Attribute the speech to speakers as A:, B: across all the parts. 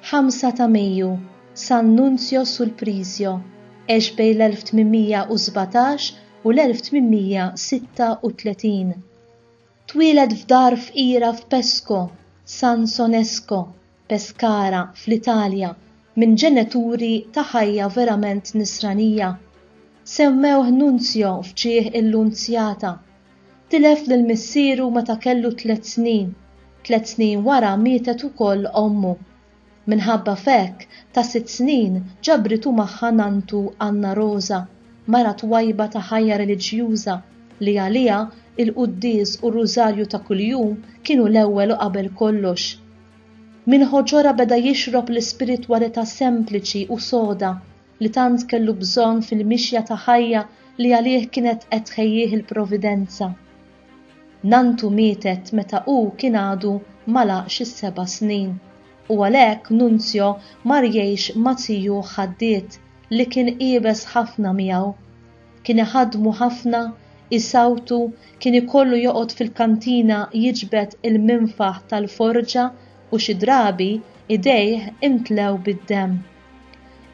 A: 5 ta' Mejju, San Nunzio Sulprizio, għex bejn l-1817 u l-1836. Twieled f'dar fqira f'Pesco, San Sonesco, Pescara, fl-Italja, minn ġeneturi ta' ħajja verament Nisranija. Semmewh Nunzio f'ġieħ il-Lunzjata. Tilef lil missieru meta kellu tlett snin. Tlett snin wara mietet ukoll ommu. Minħabba f'hekk, ta' sitt snin ġabritu magħha nanntu Anna Rosa, mara twajba ta' ħajja reliġjuża li għaliha il-quddies u r-rużarju ta' kuljum kienu l-ewwel u qabel kollox. Minn ħoġorha beda jixrob l-ispiritwalità sempliċi u soda li tant kellu bżonn fil-mixja ta' ħajja li għalih kienet qed tħejjih il-Providenza. Nanntu mietet meta hu kien għadu m'għalaqx is-seba' snin, u għalhekk Nunzio mar jgħix ma' zijuh ħaddied li kien iebes ħafna miegħu. Kien iħaddmu ħafna, isawtu, kien ikollu joqgħod fil-kantina jiġbed il-minfaħ tal-forġa u xi drabi idejh imtlew bid-demm.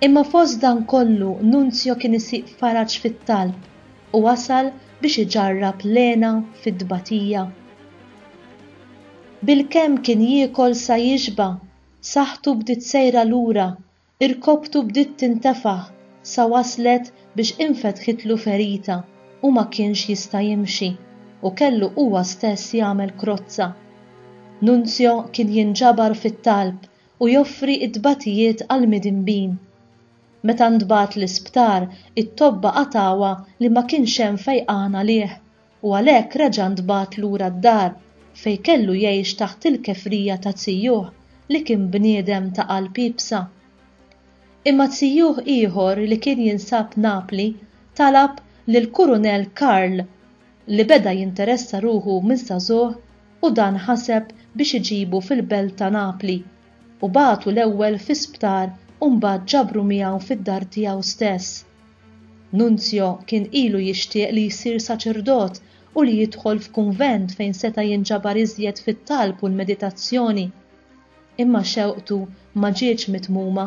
A: Imma fost dan kollu Nunzio kien isib faraġ fit-talb u wasal biex iġarrab l-hena fit-tbatija. Bilkemm kien jiekol sa jixba', saħħtu bdiet sejra lura, irkopptu bdiet tintefaħ sa waslet biex infetħitlu ferita u ma kienx jista' jimxi u kellu huwa stess jagħmel krozza. Nunzio kien jinġabar fit-talb u joffri t-tbatijiet għall-midinbin. Meta ntbagħat l-isptar, it-tobba qatgħuha li ma kienx hemm fejqan għalih u għalhekk reġa' ntbagħat lura d-dar fejn kellu jgħix taħt il-kefrija ta' zijuh li kien bniedem ta' qalb iebsa. Imma zijuh ieħor li kien jinsab Napli talab lill-Kurunell Karl li beda jinteressa ruħu minn żagħżugħ u dan ħaseb biex iġibu fil-belt ta' Napli u bagħtu l-ewwel fi sptar u mbagħad ġabru miegħu fid-dar tiegħu stess. Nunzio kien ilu jixtieq li jsir saċerdot u li jidħol f'kunvent fejn seta' jinġabar iżjed fit-talb u l-meditazzjoni. Imma xewqtu ma ġietx mitmuma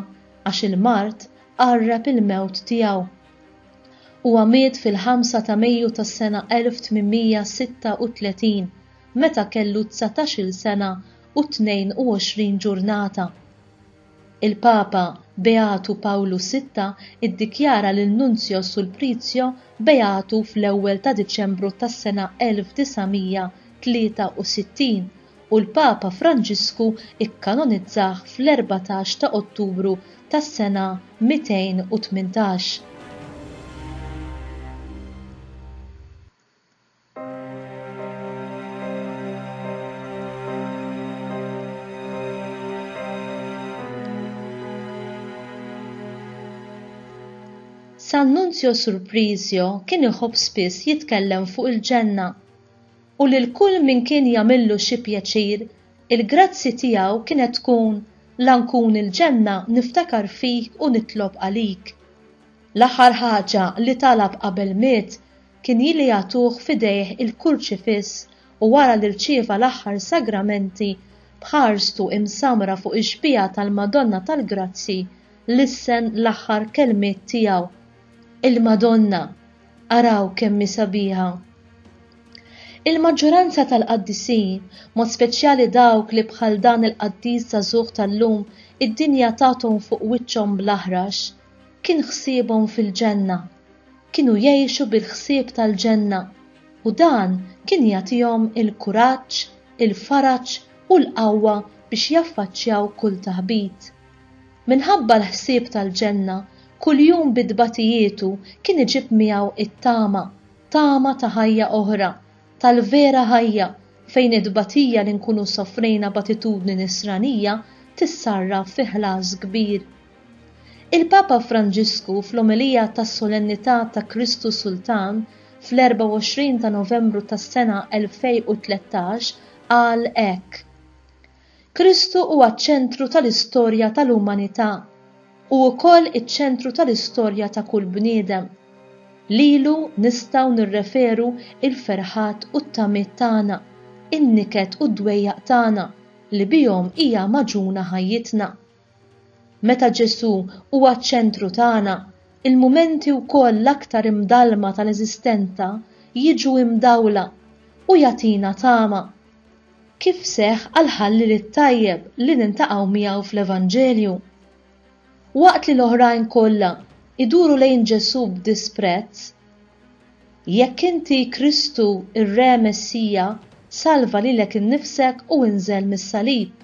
A: għax il-mard qarreb il-mewt tiegħu. Huwa miet fil-ħamsa ta' Mejju tas-sena 1836 meta kellu dsatax-il sena u 22 ġurnata. Il-Papa Beatu Pawlu Sitta ddikjara lil Nunzio Sulprizio beatu fl-ewwel ta' Diċembru tas-sena 1963 u l-Papa Franġisku kkanonizzah fl-14 ta' Ottubru tas-sena 218. San Nunzio Surprisio kien iħobb spiss jitkellem fuq il-ġenna u lil kull min kien jagħmillu xi pjaċir, il-grazzi tiegħu kienet tkun La nkun il-ġenna niftakar fik u nitlob għalik. L-aħħar ħaġa li talab qabel miet kien li jagħtuh f'idejh il-kurċifiss u wara li rċieva l-aħħar sagramenti b'ħarstu imsammra fuq ix-xbieha tal-Madonna tal-Grazzji lissen l-aħħar kelmiet tiegħu, Il-Madonna! Araw kemm hi sabiħa! Il-maġġoranza tal-qaddisin, mod speċjali dawk li bħal dan il-qaddis żagħżugħ tal-lum id-dinja tathom fuq wiċċhom bl-aħrax, kien ħsiebhom fil-ġenna. Kienu jgħixu bil-ħsieb tal-ġenna u dan kien jagħtihom il-kuraġġ, il-faraġ u l-qawwa biex jaffaċċjaw kull taħbit. Minħabba l-ħsieb tal-ġenna, kuljum bi tbatijietu kien iġib miegħu t-tama tama ta' ħajja oħra, tal-vera ħajja, fejn it-tbatija li nkunu sofrejna b'attitudni nisranija tissarraf fi ħlas kbir. Il-Papa Franġisku fl-omelija tas-Solennità ta' Kristu Sultan fl-24 ta' Novembru tas-sena 2013 qal hekk, Kristu huwa ċ-ċentru tal-istorja tal-umanità. Hu wkoll iċ-ċentru tal-istorja ta' kull bniedem. Lilu nistgħu nirreferu l-ferħat u t-tamiet tagħna, in-niket u d-dwejjaq tagħna li bihom hija magħġuna ħajjitna. Meta Ġesù huwa ċ-ċentru tagħna, il-mumenti wkoll l-aktar imdallma tal-eżistenza jiġu imdawla u jagħtina tama. Kif seħħ għall-ħalliel it-tajjeb li niltaqgħu miegħu fl-Evanġelju. Waqt li l-oħrajn kollha jduru lejn Ġesù b'disprezz, Jekk inti Kristu, ir-Re Messija, salva lilek innifsek u inżel mis-salib.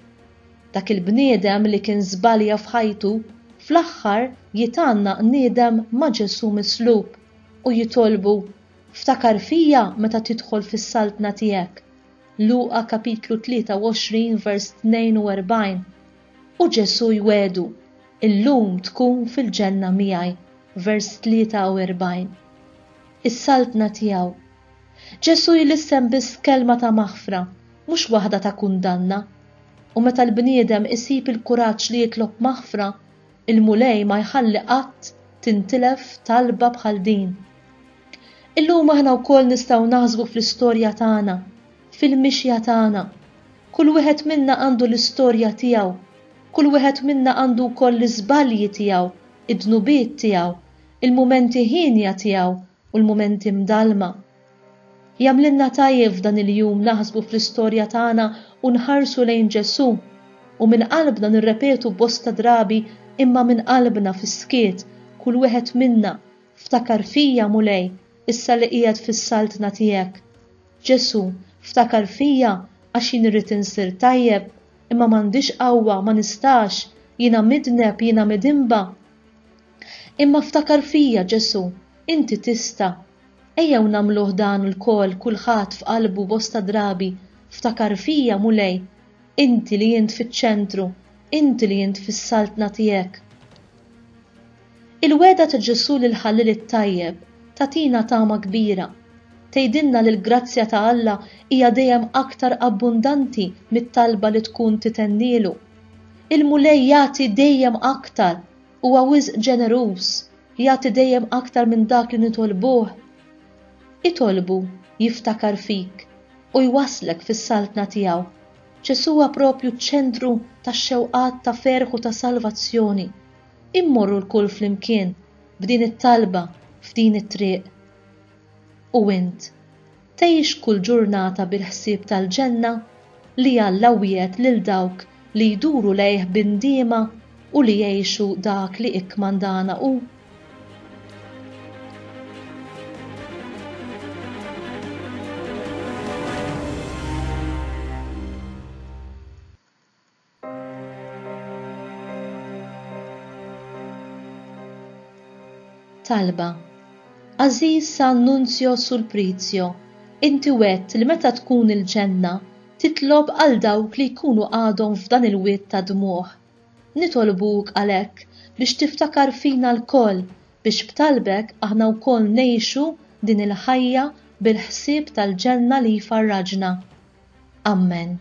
A: Dak il-bniedem li kien żbalja f'ħajtu, fl-aħħar jitgħannaq niedem ma' Ġesù mislub u jitolbu, Ftakar fija meta tidħol fis-saltna tiegħek. Luqa kapitlu 23 vers 42. U Ġesù jwiegħdu, Illum tkun fil-ġenna miegħi, vers 43. Is-saltna tiegħu. Ġesù jlissen biss kelma ta' maħfra, mhux waħda ta' kundanna. U meta l-bniedem isib il-kuraġġ li jitlob maħfra, il-Mulej ma jħalli qatt tintilef talba bħal din. Illum aħna wkoll nistgħu naħsbu fl-istorja tagħna, fil-mixja tagħna. Kull wieħed minna għandu l-istorja tiegħu. Kull wieħed minna għandu wkoll l-iżbalji tiegħu, id-dnubiet tiegħu, il-mumenti hienja tiegħu u l-mumenti mdallma. Jagħmlilna tajjeb f'dan il-jum naħsbu fl-istorja tagħna u nħarsu lejn Ġesù, u minn qalbna nirrepetu bosta drabi imma minn qalbna fis-skiet, kull wieħed minna, Ftakar fija, Mulej, issa li qiegħed fis-saltna tiegħek. Ġesù, ftakar fija għax jien irrid insir tajjeb, imma m'għandix qawwa, ma nistax, jiena midneb, jiena midinba. Imma ftakar fija, Ġesù, inti tista'. Ejjew nagħmluh dan lkoll, kulħadd f'qalbu bosta drabi, Ftakar fija, Mulej, inti li int fiċ-ċentru, inti li int fis-saltna tiegħek. Il-wegħda ta' Ġesù lill-ħalliel it-tajjeb tagħtina tama kbira. Tgħidilna li l-grazzja ta' Alla hija dejjem aktar abbundanti mit-talba li tkun titennielu. Il-Mulej jagħti dejjem aktar, huwa wisq ġeneruż, jagħti dejjem aktar minn dak li nitolbuh. Itolbu jiftakar fik u jwasslek fis-saltna tiegħu. Ġesù huwa propju ċ-ċentru tax-xewqat ta' ferħ u ta' salvazzjoni. Immorru lkoll flimkien b'din it-talba f'din it-triq. U int, tgħix kull ġurnata bil-ħsieb tal-ġenna li Alla wiegħed lil dawk li jduru lejh bi ndiema u li jgħixu dak li ikkmandana hu? Talba, Għażiż San Nunzio Sulprizio, inti wegħdt li meta tkun il-ġenna titlob għal dawk li jkunu għadhom f'dan il-wied ta' dmugħ. Nitolbuk għalhekk biex tiftakar fina lkoll biex b'talbek aħna wkoll ngħixu din il-ħajja bil-ħsieb tal-ġenna li jfarraġna. Ammen.